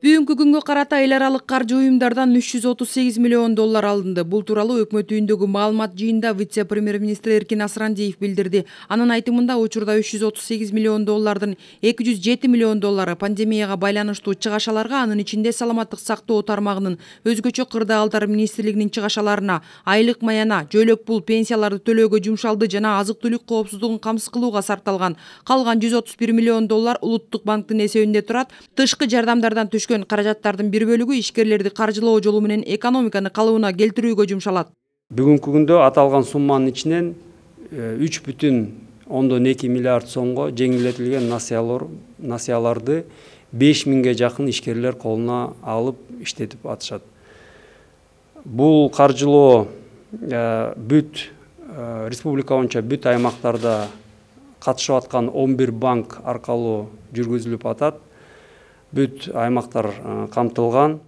Бүгүнкү күнгө карата эл аралык каржы уюмдардан $338 миллион алынды. Бул тууралуу өкмөт үйүндөгү маалымат жыйынында вице-премьер-министр Эркин Асрандиев билдирди. Анын айтымында учурда $338 миллион $207 миллион пандемияга байланыштуу чыгашаларга, анын ичинде саламаттык сактоо тармагынын өзгөчө кырдаалдар министрлигинин чыгашаларына, айлык маяна, жөлөк пул, пенсияларды төлөөгө жумшалды жана азык-түлүк коопсуздугун камсыз сарталган. Калган $131 миллион Улуттук банктын эсебинде турат. Тышкы жардамдардан түшкөн каражаттардын бир бөлүгү ишкерлерди каржылоо жолу менен экономиканы калыбына келтирүүгө жумшалат. Бүгүнкү күндө аталган сумманын ичинен 3,2 миллиард сомго жеңилдетилген насыяларды 5000ге жакын ишкерлер колуна алып иштетип атышат. Бул каржылоо республика боюнча бүт аймактарда катышып аткан 11 банк аркылуу жүргүзүлүп атат. Бүт аймактар камтылган.